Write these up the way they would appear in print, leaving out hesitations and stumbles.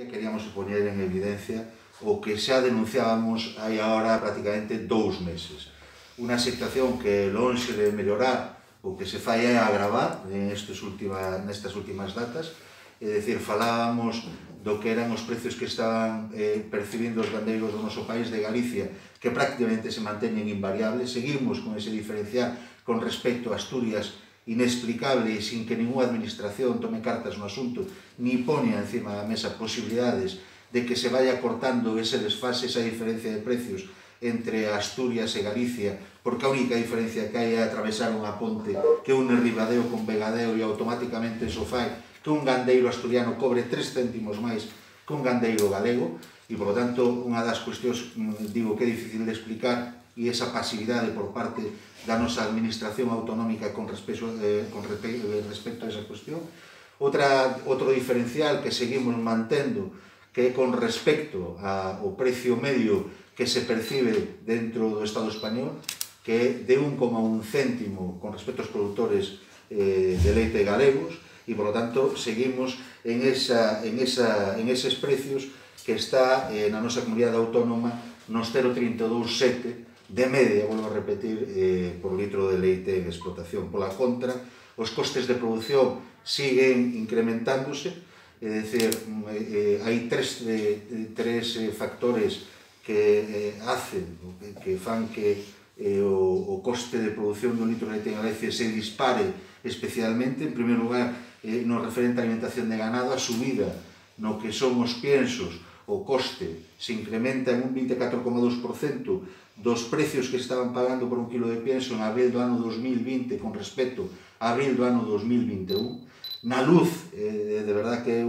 Queríamos poñer en evidencia o que xa denunciábamos hai agora prácticamente 2 meses. Unha situación que lonxe de mellorar o que se fai é agravar nestas últimas datas, é dicir, falábamos do que eran os precios que estaban percibindo os gandeiros do noso país de Galicia, que prácticamente se manteñen invariables. Seguimos con ese diferencial con respecto a Asturias inexplicable e sin que ninguna administración tome cartas no asunto ni poña encima da mesa posibilidades de que se vaya cortando ese desfase, esa diferencia de precios entre Asturias e Galicia, porque a única diferencia que hai é atravesar unha ponte que une Ribadeo con Vegadeo e automáticamente iso fai que un gandeiro asturiano cobre 3 céntimos máis que un gandeiro galego e, por lo tanto, unha das cuestións, digo, que é difícil de explicar e esa pasividade por parte da nosa administración autonómica con respecto a esa cuestión. Outro diferencial que seguimos mantendo, que é con respecto ao precio medio que se percibe dentro do Estado español, que é de 1,1 céntimo con respecto aos produtores de leite galegos, e, por lo tanto, seguimos en eses precios que está na nosa comunidade autónoma nos 0,327 de media, volvo a repetir, por litro de leite en explotación. Pola contra, os costes de produción siguen incrementándose, é dicir, hai tres factores que fan que o coste de produción do litro de leite en Galicia se dispare especialmente. En primeiro lugar, no referente á alimentación de ganado, a subida no que son os piensos, o coste se incrementa en un 24,2% dos precios que estaban pagando por un kilo de pienso en abril do ano 2020 con respecto a abril do ano 2021. Na luz, de verdad que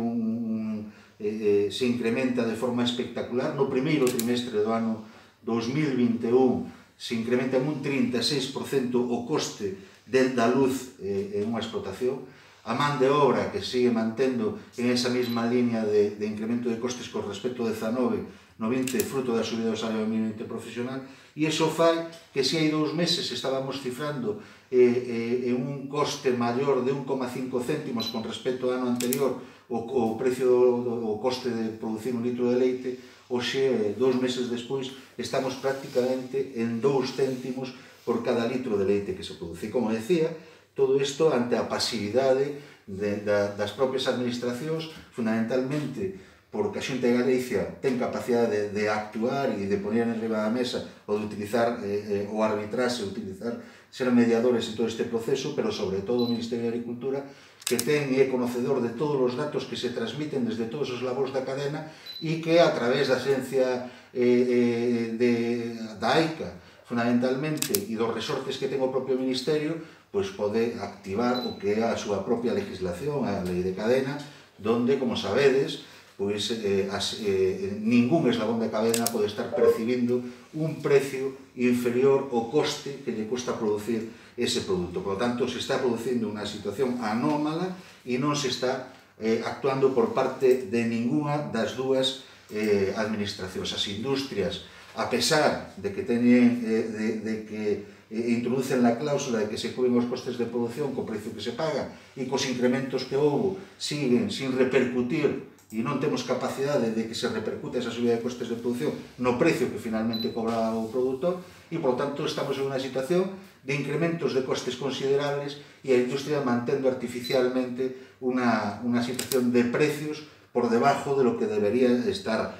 se incrementa de forma espectacular. No primeiro trimestre do ano 2021 se incrementa en un 36% o coste da luz en unha explotación. A man de obra que sigue mantendo en esa mesma línea de incremento de costes con respecto ao 19 no 20 fruto da subida do salario mínimo interprofesional, e iso fai que se hai 2 meses estábamos cifrando en un coste maior de 1,5 céntimos con respecto ao ano anterior o coste de producir un litro de leite, hoxe, 2 meses despois, estamos prácticamente en 2 céntimos por cada litro de leite que se produce. Como decía, todo isto ante a pasividade das propias administracións, fundamentalmente porque a Xunta de Galicia ten capacidade de actuar e de poner en riba da mesa ou de utilizar o arbitraxe, ser mediadores en todo este proceso, pero sobre todo o Ministerio de Agricultura, que ten e é conocedor de todos os datos que se transmiten desde todos os labores da cadena e que a través da xencia da AICA, fundamentalmente, e dos resortes que ten o propio Ministerio, pois pode activar o que é a súa propia legislación, a lei de cadena, donde, como sabedes, pois ningún eslabón de cadena pode estar percibindo un precio inferior ao coste que lle custa producir ese produto. Por lo tanto, se está producindo unha situación anómala e non se está actuando por parte de ninguna das dúas administracións. As industrias, a pesar de que introducen la cláusula de que se cubren os costes de produción co precio que se paga e cos incrementos que houve siguen sin repercutir e non temos capacidade de que se repercute esa subida de costes de produción no precio que finalmente cobra o produtor e, por tanto, estamos en unha situación de incrementos de costes considerables e a industria mantendo artificialmente unha situación de precios por debajo de lo que debería estar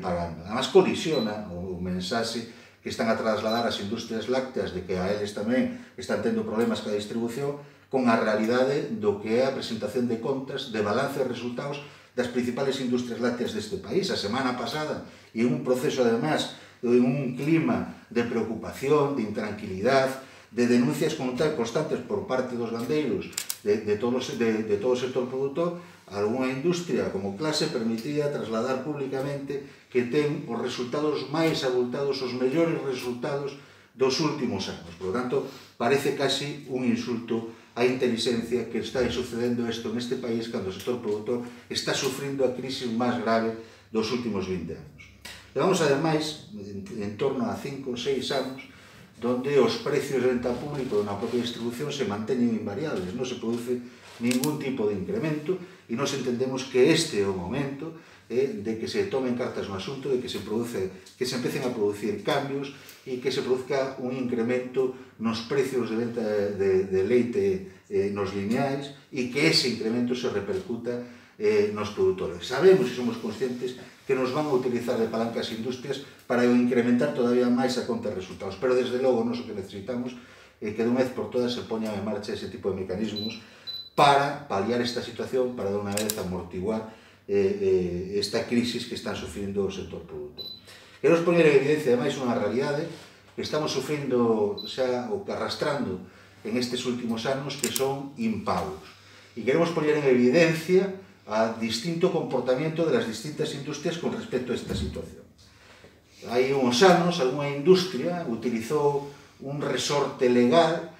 pagando. Además, colisiona o mensaxe que están a trasladar as industrias lácteas de que a eles tamén están tendo problemas ca distribución con a realidade do que é a presentación de contas, de balance de resultados das principales industrias lácteas deste país. A semana pasada, e en un proceso, además, en un clima de preocupación, de intranquilidade, de denuncias constantes por parte dos gandeiros, de todo o sector produtor, algunha industria como clase permitía trasladar públicamente que ten os resultados máis abultados, os mellores resultados dos últimos anos. Por lo tanto, parece casi un insulto á inteligencia que está sucedendo isto neste país cando o sector produtor está sufrindo a crise máis grave dos últimos 20 anos. Levamos, ademais, en torno a 5 ou 6 anos donde os precios de venta público na propia distribución se manteñen invariables, non se produce ningún tipo de incremento e nos entendemos que este é o momento de que se tomen cartas no asunto, de que se empecen a producir cambios e que se produzca un incremento nos precios de venta de leite nos lineais e que ese incremento se repercuta nos produtores. Sabemos e somos conscientes que nos van a utilizar de palanca as industrias para incrementar todavía máis a conta de resultados, pero desde logo nós o que necesitamos é que de unha vez por todas se poñan en marcha ese tipo de mecanismos para paliar esta situación, para de unha vez amortiguar esta crisis que están sufrindo o sector produtor. Queremos poñer en evidencia, ademais, unha realidade que estamos sufrindo, xa, ou arrastrando en estes últimos anos, que son impagos. E queremos poñer en evidencia a distinto comportamiento de las distintas industrias con respecto a esta situación. Hai uns anos, algunha industria utilizou un resorte legal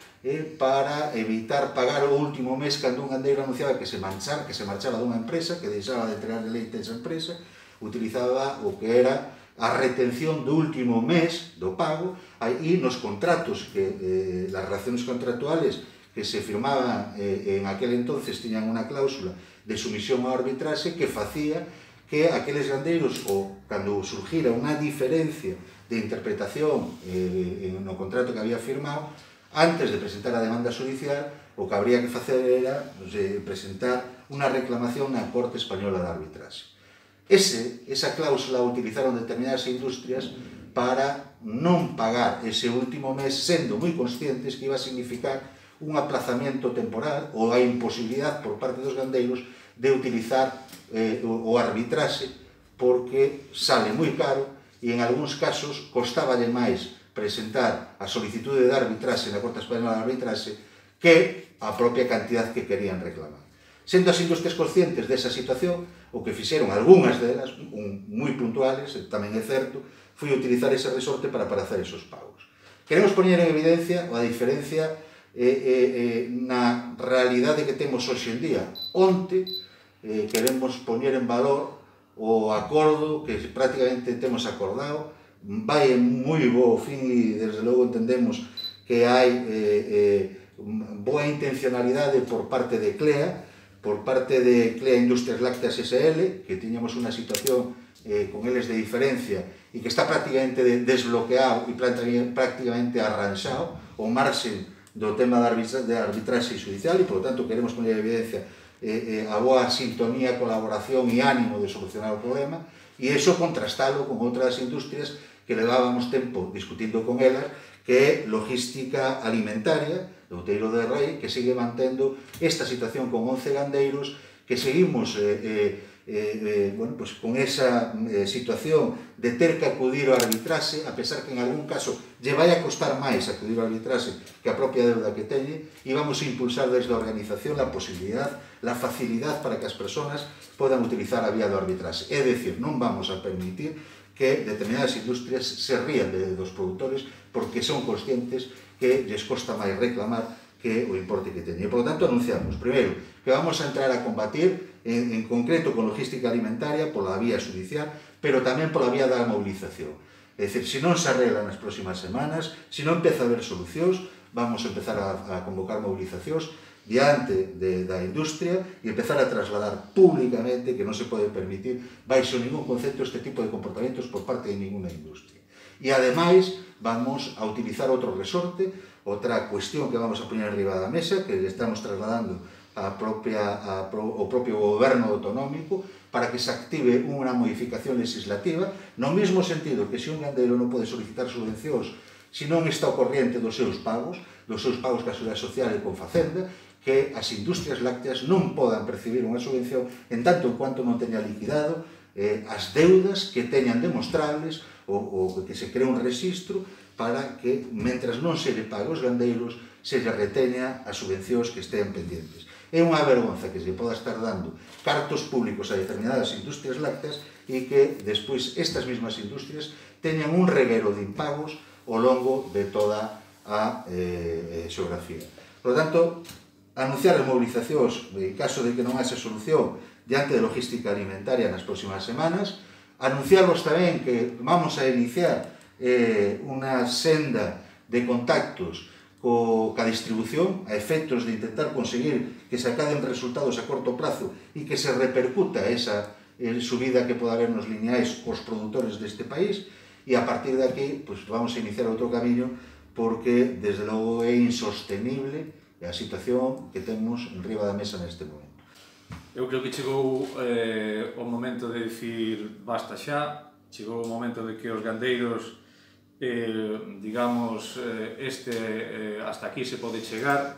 para evitar pagar o último mes cando un gandeiro anunciaba que se marchaba dunha empresa, que deixaba de entregar leite a esa empresa, utilizaba o que era a retención do último mes do pago, e nos contratos, las relaciones contractuales que se firmaban en aquel entonces tiñan unha cláusula de sumisión ao arbitraxe que facía que aqueles gandeiros, ou cando surgira unha diferencia de interpretación no contrato que había firmado, antes de presentar a demanda judicial, o que habría que facer era presentar unha reclamación na Corte Española de Arbitraxe. Esa cláusula utilizaron determinadas industrias para non pagar ese último mes, sendo moi conscientes que iba a significar un aplazamiento temporal ou a imposibilidade por parte dos gandeiros de utilizar o arbitraxe porque sale moi caro e en algúns casos costaballe máis presentar a solicitude de arbitraxe na Corte Española de Arbitraxe que a propia cantidad que querían reclamar. Sendo as industrias conscientes desa situación, o que fixeron algunhas delas, moi puntuales, tamén é certo, foi utilizar ese resorte para hacer esos pagos. Queremos poñer en evidencia a diferencia na realidade que temos hoxe en día. Onte queremos poñer en valor o acordo que prácticamente temos acordado, vai en moi bo fin e desde logo entendemos que hai boa intencionalidade por parte de CLEA, por parte de CLEA Industrias Lácteas SL, que tiñamos unha situación con eles de diferencia e que está prácticamente desbloqueado e prácticamente arranxado o marxen do tema de arbitraxe judicial e, por lo tanto, queremos poner en evidencia a boa sintonía, colaboración e ánimo de solucionar o problema e iso contrastalo con outras industrias que levábamos tempo discutindo con elas, que é logística alimentaria do Outeiro de Rei, que sigue mantendo esta situación con 11 gandeiros, que seguimos con esa situación de ter que acudir ao arbitraxe, a pesar que en algún caso lle vai a costar máis acudir ao arbitraxe que a propia deuda que teñe, e vamos a impulsar desde a organización a posibilidad, la facilidad para que as persoas podan utilizar a vía do arbitraxe. É dicir, non vamos a permitir que determinadas industrias se rían dos produtores porque son conscientes que lles costa máis reclamar que o importe que teñen. E, por lo tanto, anunciamos, primeiro, que vamos a entrar a combatir en concreto con logística alimentaria pola vía judicial, pero tamén pola vía da movilización. É dicir, se non se arregla nas próximas semanas, se non empeza a haber solucións, vamos a empezar a convocar movilizacións diante da industria e empezar a trasladar públicamente que non se pode permitir baixo ningún concepto este tipo de comportamientos por parte de ninguna industria. E ademais vamos a utilizar outro resorte, outra cuestión que vamos a poñer arriba da mesa, que estamos trasladando ao propio goberno autonómico para que se active unha modificación legislativa no mesmo sentido que se un gandeiro non pode solicitar subvencións se non está ao corriente dos seus pagos ca Seguridade Social e con Facenda, que as industrias lácteas non podan percibir unha subvención en tanto en cuanto non teña liquidado as deudas que teñan demostrables ou que se cree un registro para que, mentras non se lle pague aos gandeiros, se lle reteña as subvencións que estean pendientes. É unha vergonza que se poda estar dando cartos públicos a determinadas industrias lácteas e que despois estas mesmas industrias teñan un reguero de impagos ao longo de toda a xeografía. Por lo tanto, anunciar as movilizacións en caso de que non haxe solución diante de logística alimentaria nas próximas semanas, anunciarvos tamén que vamos a iniciar unha senda de contactos ca distribución a efectos de intentar conseguir que se acaden resultados a corto plazo e que se repercuta esa subida que poda haber nos lineais aos produtores deste país, e a partir de aquí pues, vamos a iniciar outro camiño, porque desde logo é insostenible a situación que temos en riba da mesa neste momento. Eu creo que chegou o momento de dicir basta xa, chegou o momento de que os gandeiros digamos, hasta aquí se pode chegar,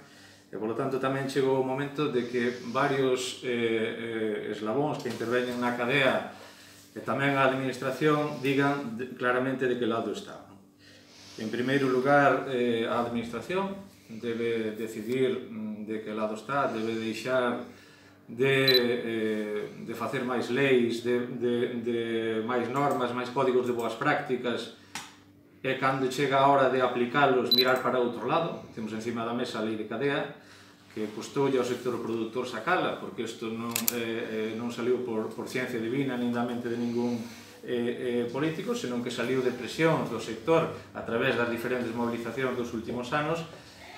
e, polo tanto, tamén chegou o momento de que varios eslabóns que interveñen na cadea e tamén a administración digan claramente de que lado está. En primeiro lugar, a administración debe decidir de que lado está, debe deixar de facer máis leis, de máis normas, máis códigos de boas prácticas, e cando chega a hora de aplicalos, mirar para outro lado. Temos encima da mesa a lei de cadea, que custoulle ao sector produtor sacala, porque isto non saliu por ciencia divina, nin da mente de ningún político, senón que saliu de presión do sector a través das diferentes movilizacións dos últimos anos,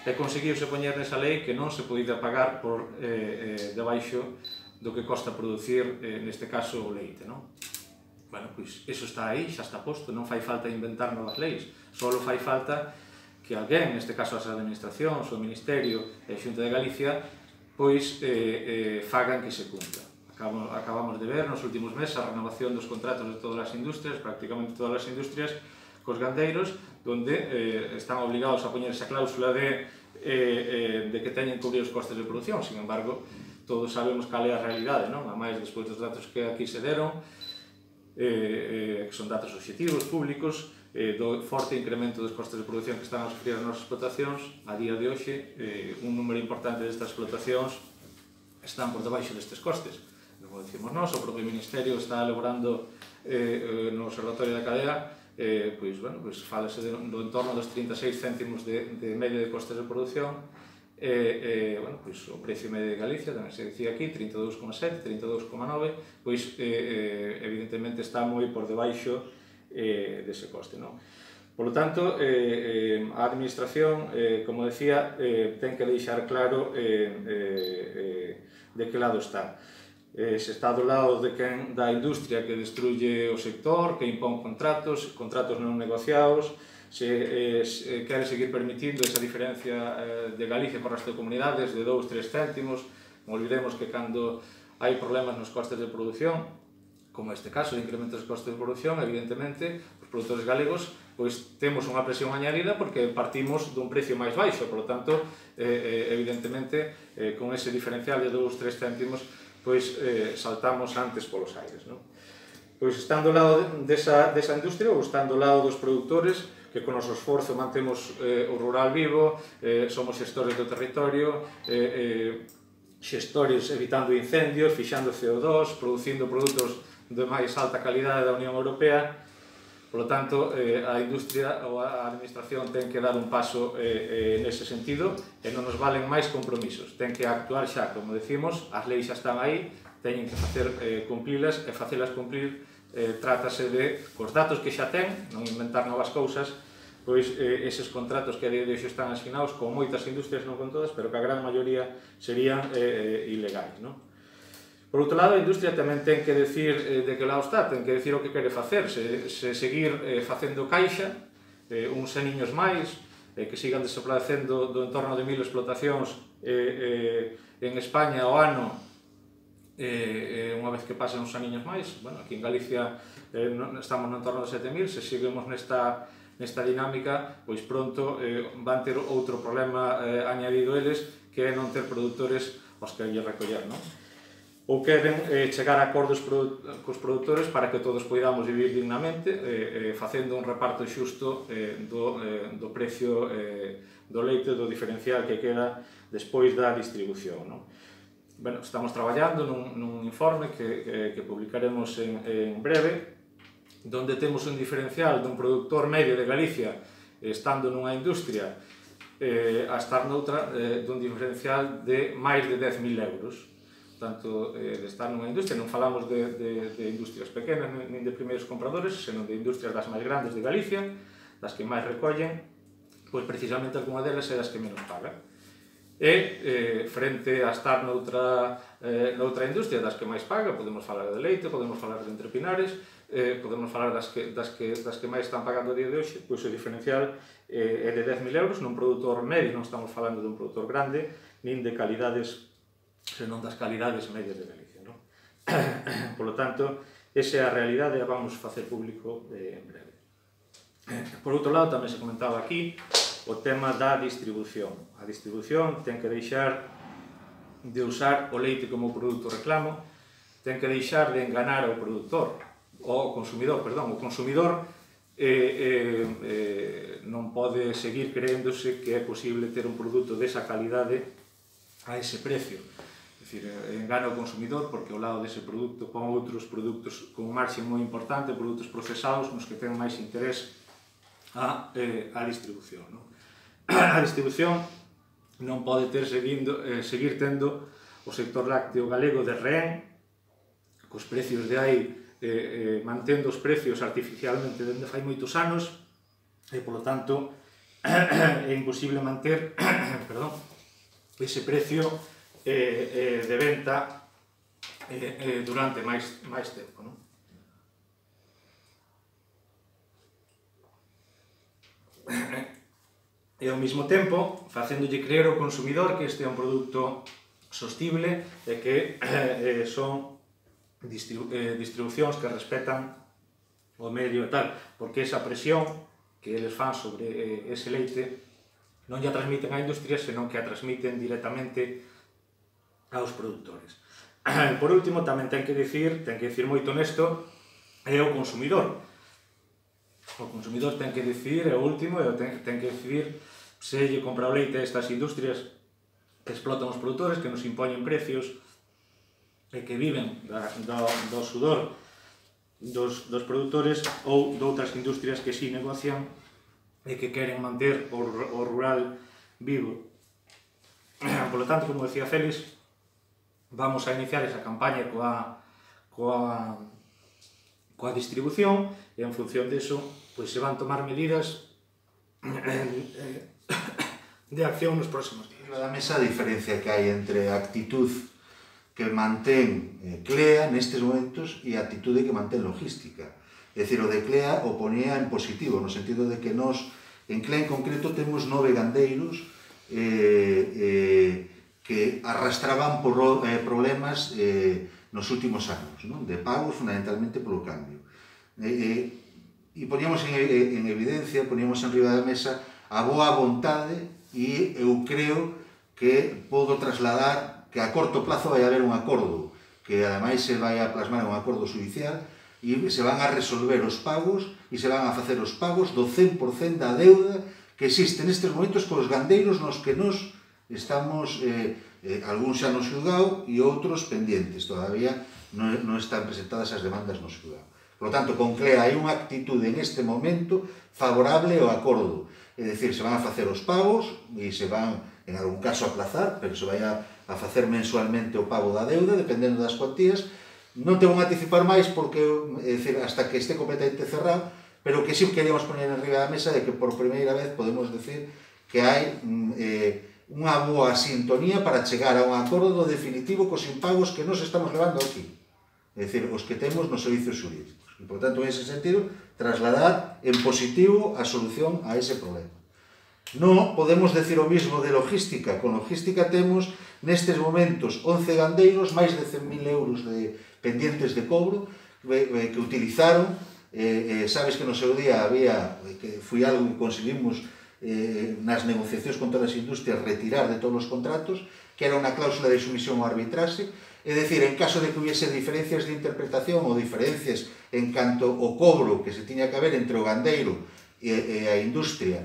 e conseguiuse poñer nesa lei que non se podía pagar por debaixo do que costa producir, neste caso, o leite, non? Bueno, pois, iso está aí, xa está posto, non fai falta inventar novas leis, só fai falta que alguén, neste caso as administracións, o Ministerio e a Xunta de Galicia, pois fagan que se cumpla. Acabamos de ver nos últimos meses a renovación dos contratos de todas as industrias, prácticamente todas as industrias, cos gandeiros, onde están obligados a poñer esa cláusula de que teñen que cubrir os costes de produción. Sin embargo, todos sabemos cal é a realidade, non? A máis despois dos datos que aquí se deron, que son datos obxectivos, públicos, do forte incremento dos costes de produción que están a sufrir as nosas explotacións. A día de hoxe, un número importante destas explotacións están por debaixo destes costes. Como decimos nós, o propio Ministerio está elaborando no Observatorio da Cadea, pois falase do entorno dos 36 céntimos de media de costes de produción, o precio medio de Galicia, tamén se dicía aquí, 32,7, 32,9, pois evidentemente está moi por debaixo dese coste. Por lo tanto, a administración, como decía, ten que deixar claro de que lado está. Se está do lado da industria que destruye o sector, que impón contratos non negociados, se quere seguir permitindo esa diferencia de Galicia por resto de comunidades de 2-3 céntimos. Non olvidemos que cando hai problemas nos costes de produción, como este caso de incremento dos costes de produción, evidentemente, os produtores galegos pois temos unha presión añadida porque partimos dun precio máis baixo, por lo tanto, evidentemente, con ese diferencial de 2-3 céntimos, pois saltamos antes polos aires. Pois estando ao lado desa industria ou estando ao lado dos produtores, que con o noso esforzo mantemos o rural vivo, somos xestores do territorio, xestores evitando incendios, fixando CO2, producindo produtos de máis alta calidade da Unión Europea. Por lo tanto, a industria ou a administración ten que dar un paso nese sentido e non nos valen máis compromisos. Ten que actuar xa, como decimos, as leis xa están aí, teñen que facer cumplilas e facelas cumplir. Trátase de, cos datos que xa ten, non inventar novas cousas, pois eses contratos que a día de hoxe están asinados con moitas industrias, non con todas, pero que a gran maioría serían ilegais. Por outro lado, a industria tamén ten que decir de que lado está, ten que decir o que quere facer, se seguir facendo caixa, uns aniños máis, que sigan desaparecendo do entorno de 1000 explotacións en España ao ano, unha vez que pasen uns aniños máis. Bueno, aquí en Galicia estamos no entorno de 7000, se seguimos nesta dinámica, pois pronto van ter outro problema añadido eles, que é non ter produtores aos que lle recoller, non? Ou queren chegar a acordos cos produtores para que todos poidamos vivir dignamente, facendo un reparto xusto do precio do leite, do diferencial que queda despois da distribución. Bueno, estamos traballando nun informe que publicaremos en breve, donde temos un diferencial dun productor medio de Galicia, estando nunha industria, a estar noutra, dun diferencial de máis de 10.000 euros. Tanto de estar nunha industria, non falamos de industrias pequenas, nin de primeiros compradores, senón de industrias das máis grandes de Galicia, das que máis recollen, pois precisamente algunha delas é das que menos paga. E, frente a estar noutra industria das que máis paga, podemos falar de leite, podemos falar de entrepinares, podemos falar das que máis están pagando a día de hoxe, pois o diferencial é de 10.000 euros nun produtor medio, non estamos falando dun produtor grande, nin de calidades, senón das calidades medias de Galicia, non? Por lo tanto, esa é a realidade e a vamos facer público en breve. Por outro lado, tamén se comentaba aquí o tema da distribución. A distribución ten que deixar de usar o leite como produto reclamo, ten que deixar de enganar ao produtor, o consumidor, perdón, o consumidor non pode seguir creéndose que é posible ter un produto desa calidade a ese precio. É dicir, engana o consumidor porque ao lado dese produto pon outros produtos con un marxe moi importante, produtos procesados nos que ten máis interés a distribución. A distribución non pode seguir tendo o sector lácteo galego de rehén, cos precios de aí, mantendo os precios artificialmente dende fai moitos anos, e, polo tanto, é imposible manter ese precio de venta durante máis tempo. E ao mesmo tempo, facéndolle creer ao consumidor que este é un produto sostible e que son distribucións que respetan o medio e tal, porque esa presión que eles fan sobre ese leite non lla transmiten á industria, senón que a transmiten directamente aos produtores. Por último, tamén ten que dicir moito nesto, é o consumidor. O consumidor ten que decidir, é o último, e ten que decidir se lle compra o leite a estas industrias que explotan os produtores, que nos impoñen precios e que viven do sudor dos produtores, ou de outras industrias que si negocian e que queren manter o rural vivo. Por lo tanto, como decía Félix, vamos a iniciar esa campaña coa distribución e en función deso pois se van tomar medidas de acción nos próximos días. Da mesa a diferencia que hai entre a actitud que mantén CLEA nestes momentos e a actitude que mantén logística. É dicir, o de CLEA o ponía en positivo, no sentido de que nós, en CLEA en concreto, temos 9 gandeiros que arrastraban por problemas nos últimos anos, de pagos fundamentalmente polo cambio. E poníamos en evidencia, poníamos en riba da mesa a boa vontade e eu creo que podo trasladar que a corto plazo vai haber un acordo que ademais se vai a plasmar en un acordo judicial e se van a resolver os pagos e se van a facer os pagos do 100% da deuda que existe nestes momentos cos gandeiros nos que nos estamos, algúns xa no xulgado e outros pendientes, todavía non están presentadas as demandas no xulgado. Por lo tanto, con CLEA hai unha actitude neste momento favorable ao acordo. É dicir, se van a facer os pagos e se van, en algún caso, a aplazar, pero se vai a facer mensualmente o pago da deuda, dependendo das cuantías. Non te vou anticipar máis porque, é dicir, hasta que este completamente cerrado, pero que sí queríamos poner en riba da mesa de que por primeira vez podemos decir que hai unha boa sintonía para chegar a un acordo definitivo cos impagos que nos estamos levando aquí. É dicir, os que temos nos servicios xurídicos. E, por tanto, en ese sentido, trasladar en positivo a solución a ese problema. Non podemos decir o mismo de logística. Con logística temos, nestes momentos, 11 gandeiros, máis de 100.000 euros de pendientes de cobro, que utilizaron. Sabes que no seu día había, que foi algo que conseguimos nas negociacións con todas as industrias, retirar de todos os contratos, que era unha cláusula de sumisión ao arbitraxe. É dicir, en caso de que hubiese diferencias de interpretación ou diferencias en canto ao cobro que se tiña que haber entre o gandeiro e a industria,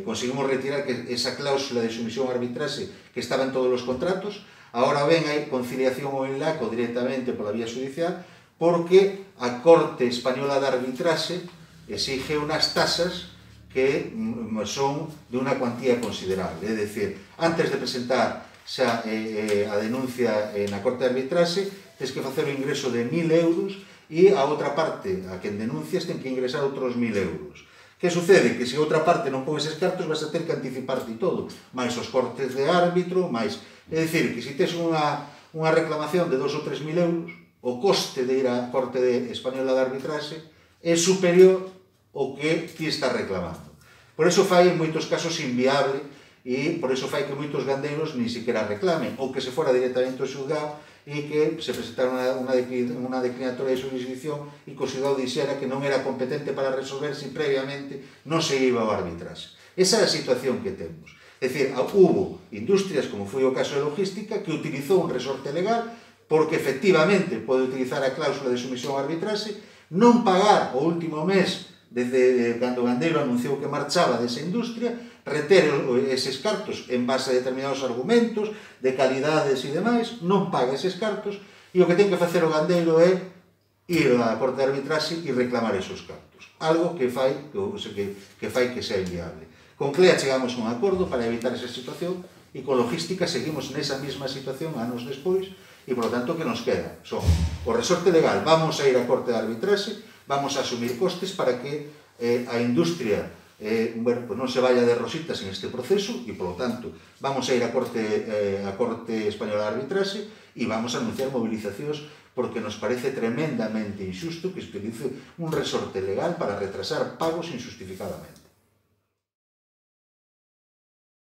conseguimos retirar esa cláusula de sumisión ao arbitraxe que estaba en todos os contratos. Agora ben, hai conciliación ou enlaco directamente pola vía judicial porque a Corte Española de Arbitraxe exige unas tasas que son de unha cuantía considerable. É dicir, antes de presentar xa a denuncia na Corte de Arbitraxe, tens que facer o ingreso de 1.000 euros e a outra parte, a quen denuncias, ten que ingresar outros 1.000 euros. Que sucede? Que se outra parte non pon eses cartos, vas a ter que anticiparte todo, máis os cortes de árbitro, máis... É dicir, que se tes unha reclamación de 2 ou 3 mil euros, o coste de ir á Corte Española de Arbitraxe é superior ao que ti estás reclamando. Por eso fai en moitos casos inviable e por eso fai que moitos gandeiros nin siquiera reclamen, ou que se fora directamente ao xulgado e que se presentara unha declinatoria de jurisdicción e que o xulgado dixera que non era competente para resolver se previamente non se iba ao arbitraxe. Esa é a situación que temos. É dicir, hubo industrias, como foi o caso de logística, que utilizou un resorte legal porque efectivamente pode utilizar a cláusula de sumisión ao arbitraxe, non pagar o último mes desde cando o gandeiro anunciou que marchaba desa industria, reter eses cartos en base a determinados argumentos de calidades e demais, non paga eses cartos e o que ten que facer o gandeiro é ir á Corte de Arbitraxe e reclamar esos cartos. Algo que fai que sea inviable. Con CLEA chegamos a un acordo para evitar esa situación e con logística seguimos nesa mesma situación anos despois e, por lo tanto, que nos queda? Son o resorte legal, vamos a ir á Corte de Arbitraxe, vamos a asumir costes para que a industria non se vaya de rositas en este proceso e, por lo tanto, vamos a ir á Corte Española de Arbitraxe e vamos a anunciar movilizacións porque nos parece tremendamente injusto que se utilice un resorte legal para retrasar pagos injustificadamente.